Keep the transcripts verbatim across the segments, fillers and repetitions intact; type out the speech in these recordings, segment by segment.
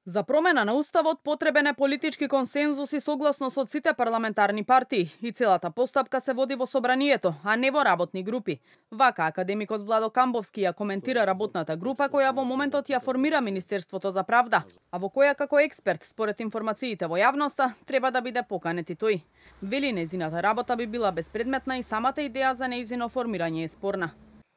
За промена на уставот потребен е политички консензус и согласност од сите парламентарни партии и целата постапка се води во собранието, а не во работни групи. Вака академикот Владо Камбовски ја коментира работната група која во моментот ја формира Министерството за правда, а во која како експерт според информациите во јавноста треба да биде поканет и тој. Вели нејзината работа би била безпредметна и самата идеја за нејзино формирање е спорна.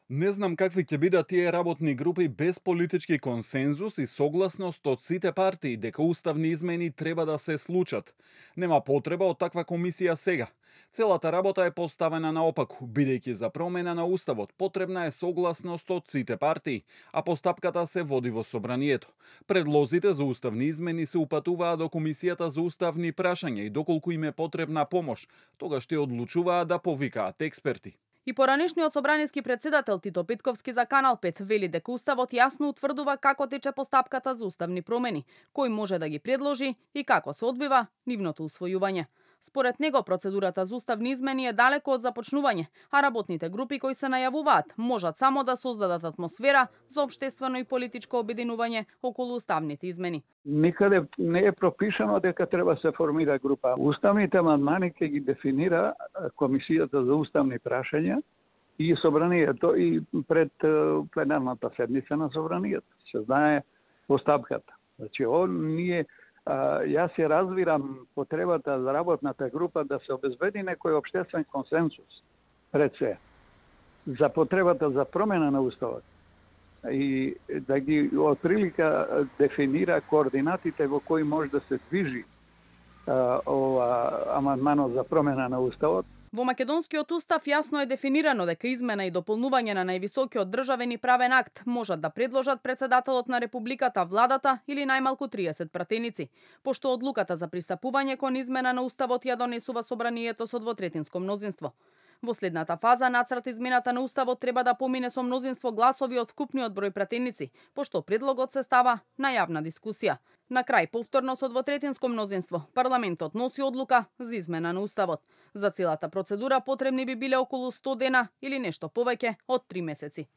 Не знам какви ќе бидат тие работни групи без политички консензус и согласност од сите партии дека уставни измени треба да се случат. Нема потреба од таква комисија сега. Целата работа е поставена наопаку, бидејќи за промена на уставот потребна е согласност од сите партии, а постапката се води во собранието. Предлозите за уставни измени се упатуваат до Комисијата за уставни прашања и доколку им е потребна помош, тогаш ќе одлучуваат да повикаат експерти. И поранешниот собраниски председател Тито Петковски за Канал пет вели дека уставот јасно утврдува како тече постапката за уставни промени, кој може да ги предложи и како се одвива нивното усвојување. Според него процедурата за уставни измени е далеко од започнување, а работните групи кои се најавуваат можат само да создадат атмосфера за општествено и политичко обединување околу уставните измени. Никаде не е пропишано дека треба се формира група. Уставните амандмани ќе ги дефинира Комисијата за уставни прашања и собранието и пред пленарната седница на собранието. Се знае постапката. Значи, он ние јас ја разбирам потребата за работната група да се обезбеди некој општествен консенсус пред се за потребата за промена на уставот и да ги отприлика дефинира координатите во кои може да се движи а, ова амандманот за промена на уставот. Во македонскиот устав јасно е дефинирано дека измена и дополнување на највисокиот државен и правен акт можат да предложат председателот на републиката, владата или најмалку триесет пратеници, пошто одлуката за пристапување кон измена на уставот ја донесува собранието со двотретинско мнозинство. Во следната фаза нацрт измената на уставот треба да помине со мнозинство гласови од вкупниот број пратеници, пошто предлогот се става на јавна дискусија. На крај, повторно со двотретинско мнозинство, парламентот носи одлука за измена на уставот. За целата процедура потребни би биле околу сто дена или нешто повеќе од три месеци.